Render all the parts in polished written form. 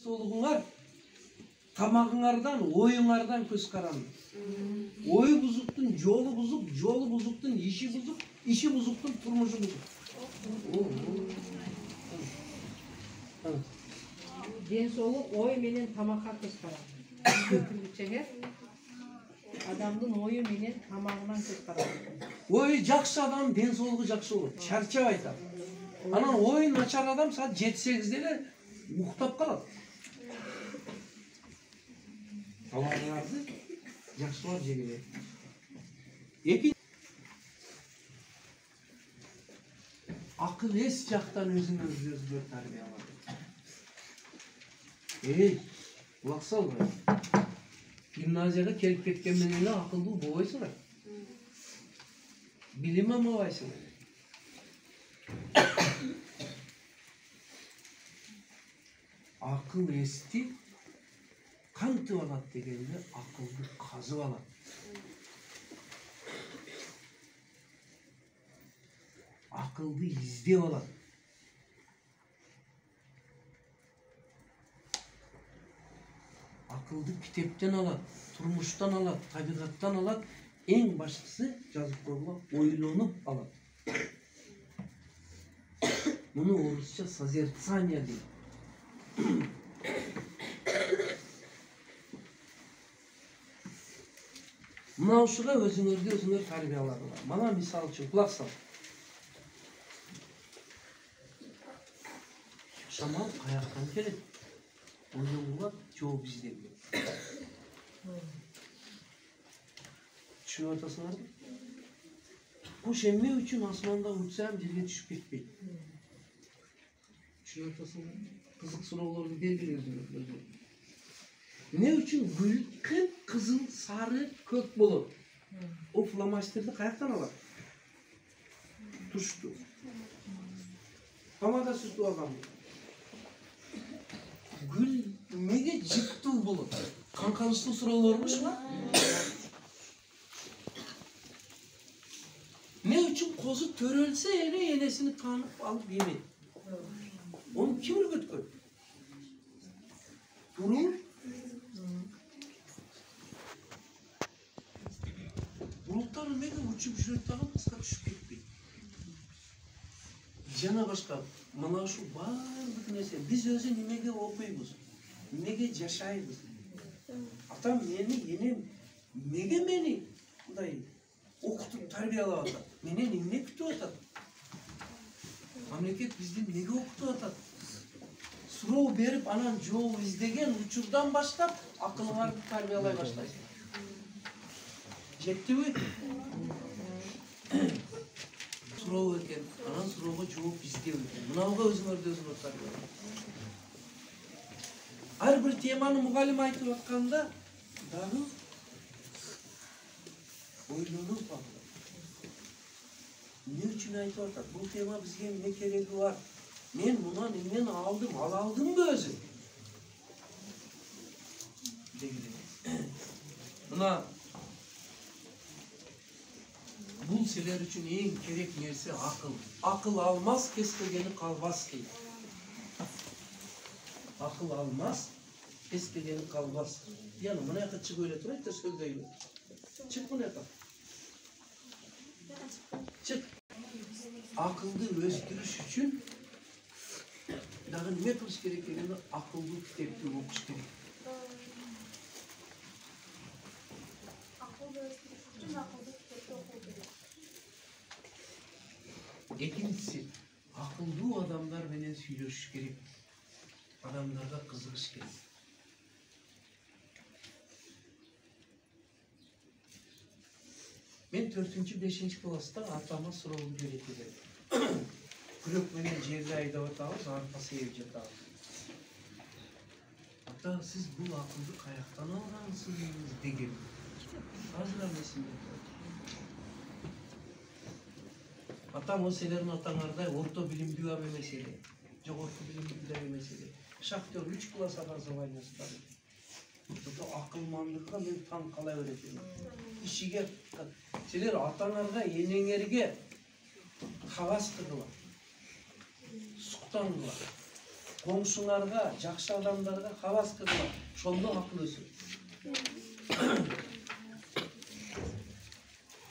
чурчуктуулугуңар тамагыңардан, оюңардан көз каранды. Ою бузуктун жолу бузуктун иши бузуктун турмушу бузук. Ден соолук ой менен тамакка көз каранды. Түргүчеңер адамдын ою менен тамагынан көз каранды. Ой жакшы адам ден соолугу жакшы болот, чарчап айтат. Анан ой начар адам саат 7-8 эле уктап калат. Тамагыңарды жакшылап жегиле. Эки акыл эс жактан өзүңөрдү тарбия алат. Кулак салгай. Гимназияга келип кеткен менен эле акылдуу болбойсуңар. Билим алмабайсыңар. Акыл эсти кантип алат дегенде акылды казып алат. Акылды издеп алат. Акылды китептен алат, турмуштан алат, табигаттан алат. Эң баштысы жазып койгула ойлонуп алат. Муну орусча созерцание дейт. Мына ушуга өзүңөр тарбияладыңар. Мана мисал үчүн кулак сал. Шамал каяктан келет? Ойлонгула жооп издеги. Түшүнүп атасыңарбы? Куш эмне үчүн асманда учсам жерге түшүп кетпейт? Түшүнүп атасыңарбы? Кызык суроолорду белгилеңиз. Эмне үчүн гүл кып-кызыл, сары, көк болот? О фломастерди каяктан алат? Тушту. Помада сүртүп алган. Гүл эмнеге жыттуу болот? Канканычтуу суроолорбу ушуга? Эмне үчүн козу төрөлсө эле энесини таанып алып жемейт? Onu kim ürgütkün? Durur. Bulutlar mega uçup жүрөттөгөн кыска түшүп кетпейт. Жана башка мына ушу баардык нерсе биз өзү немеге окуйбуз? Эмнеге жашайбыз? Атам мени, энем эмнеге мени мындай окутуп тарбиялап атат? Менен эмне күтүп атат? Мамлекет бизди эмнеге окутуп атат? Суроо берип, анан жооп издеген учурдан баштап акылыңарды тарбиялай баштайсың. Жеттиби? Суроо экен, анан суроого жооп издеп экен. Мынауга өзүңөрдү тарбиялай. Ар бир теманы мугалим айтып атканда дагы ойлонуп алып. Эмне үчүн айтып атат? Бул тема бизге эмне кереги бар? Men bundan emnen aldım, aldım özü. Buna bul seler için en gerek nerse akıl. Akıl almaz, keskegeni kalmaz ki. Akıl almaz, keskegeni kalmaz. Yani buna yakın çık öyle turayım da söyleyin. Çık buna yakın. Çık. Akıldı özdürüş için dagı nime kılış gerek degende akıllı kitepti okuş gerek. Akıllı özdürüş için akıllı kitepti okuş gerek. Экинчиси, акылдуу адамдар менен сүйлөшүш керек. Адамдарга кызыгыш керек. Мен 4-5 класста атама суроолду берет элем. Күрөк менен жерди айдап атабыз, арпа сээп жатабыз. Ата, сиз бул акылды каяктан алгансыз деген. Азыр эмесинде. Атам о силердин атаңардай орто билимдүү ам эмес эле. Жогорку билимдүү эмес эле. Шахтер 3 класс образование стады. Ото акылмандыкка мен таң кала беретим. Ишиге силер атаңарга, энеңерге кагаз кыгыла. Суктангыла. коңшуңарга, жакшы адамдарга хавас кылгыла. Ошондо акыл өсөт.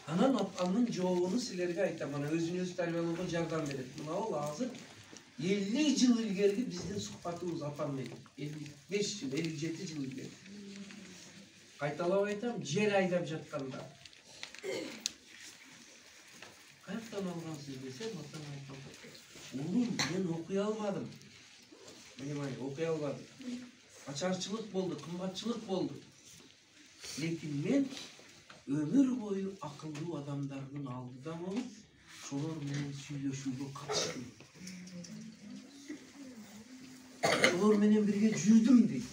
Анан анын жообуну силерге айтам. Мына өзүңүз тarbiyалоого жардам берет. Мына ол азыр 50 жыл илгерки биздин сухбатыбыз апам менен. 55 жыл, 57 жыл илгери. Кайталап айтам, жер айдап жатканда. Каяктан алгансыз десем, атам айтты. Улум, мен окуй албадым. Понимаете, окуй албадым. Ачарчылык болду, кымбатчылык болду. Лекин мен өмүр бою акылдуу адамдардын алдыда болуп, шолор менен сүйлөшүүгө катыштым. Шолор менен бирге жүрдүм дейт.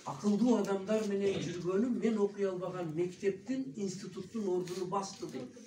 Акылдуу адамдар менен жүргөнүм мен окуй албаган мектептин, институттун ордуну басты дейт.